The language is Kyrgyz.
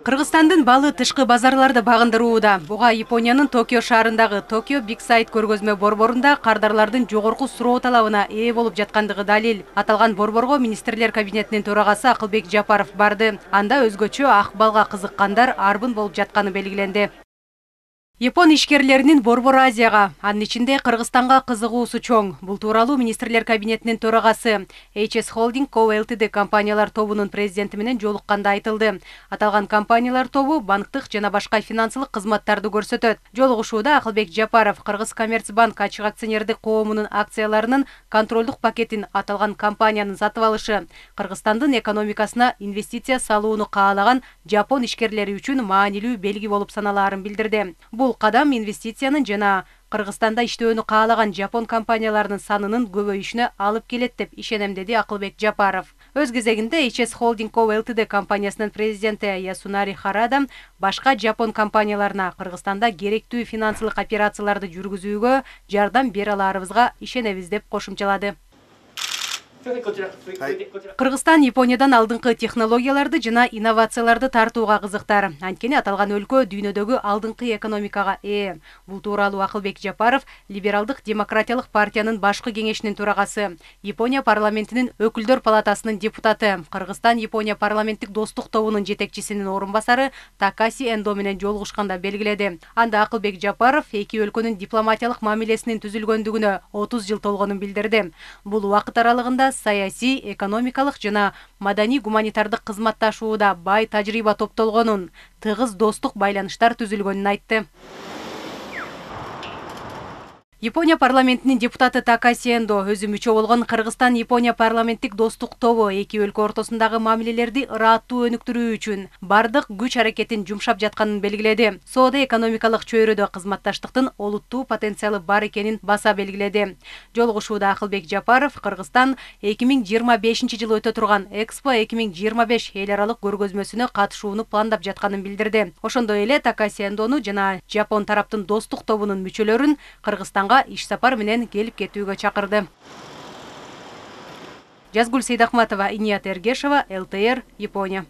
Кыргызстандын балы тышкы базарларды багындырууда. Буга Япониянын Токио шаарындагы Токио Big Sight көргөзмө борборунда кардарлардын жогорку суроо талабына ээ болуп жаткандыгы далил. Аталган борборго министрлер кабинетинин төрагасы Акылбек Жапаров барды. Анда өзгөчө ак балга кызыккандар арбын болуп жатканы белгиленди. Япон ишкерлеринин Борбор Азияга, анын ичинде Кыргызстанга кызыгуусу чоң. Бул тууралуу министрлер кабинетинин төрагасы HS Holding Co. Ltd компаниялар тобунун президенти менен жолукканда айтылды. Аталган компаниялар тобу банктык жана башка финансылык кызматтарды көрсөтөт. Жолугушууда Акылбек Жапаров Кыргызкоммерцбанк ачык акционердик коомунун акцияларынын контролдук пакетин аталган компаниянын сатып алышы Кыргызстандын экономикасына инвестиция салууну каалаган жапон ишкерлери үчүн маанилүү белги болуп саналаарын билдирди. Бул кадам инвестициянын жана Кыргызстанда иштөөнү каалаган жапон компанияларынын санынын көбөйүшүнө алып келет деп ишенем, деди Акылбек Жапаров. Өз кезегинде HS Holding Co. Ltd компаниясынын президенти Ясунари Харада башка жапон компанияларына Кыргызстанда керектүү финансылык операцияларды жүргүзүүгө жардам бере аларыбызга ишенебиз деп кошумчалады. Кыргызстан Япониядан алдыңкы технологияларды жана инновацияларды тартууга кызыктар. Анткени аталган өлкө дүйнөдөгү алдыңкы экономикага ээ. Бул тууралуу Акылбек Жапаров Либералдык демократиялык партиянын башкы кеңешинин төрагасы, Япония парламентинин өкүлдөр палатасынын депутаты, Кыргызстан Япония парламенттик достук тобунун жетекчисинин орун басары Такаси Эндо менен жолугушканда белгиледи. Анда Акылбек Жапаров эки өлкөнүн дипломатиялык мамилесинин түзүлгөндүгүнө 30 жыл толгонун билдирди. Бул убакыт аралыгында саясий, экономикалык жана маданий-гуманитардык кызматташууда бай тажрыйба топтолгонун, тыгыз достук байланыштар түзүлгөнүн айтты. Япония парламентинин депутаты Такаси Эндо өзү мүчө болгон Кыргызстан-Япония парламенттик достук тобу эки өлкө ортосундагы мамилелерди ыраттуу өнүктүрүү үчүн бардык күч аракетин жумшап жатканын белгиледи. Соода-экономикалык чөйрөдө кызматташтыктын олуттуу потенциалы бар экенин баса белгиледи. Жолугушууда Акылбек Жапаров Кыргызстан 2025-жылы өтө турган Экспо 2025 эл аралык көргөзмөсүнө катышууну пландап жатканын билдирди. Ошондой эле Такаси Эндону жана Жапон тараптын достук тобунун мүчөлөрүн Кыргызстанга иш сапар менен келип кетүүгө чакырды. Жазгүл Сейдахматова, Иният Эргешова, ЛТР, Япония.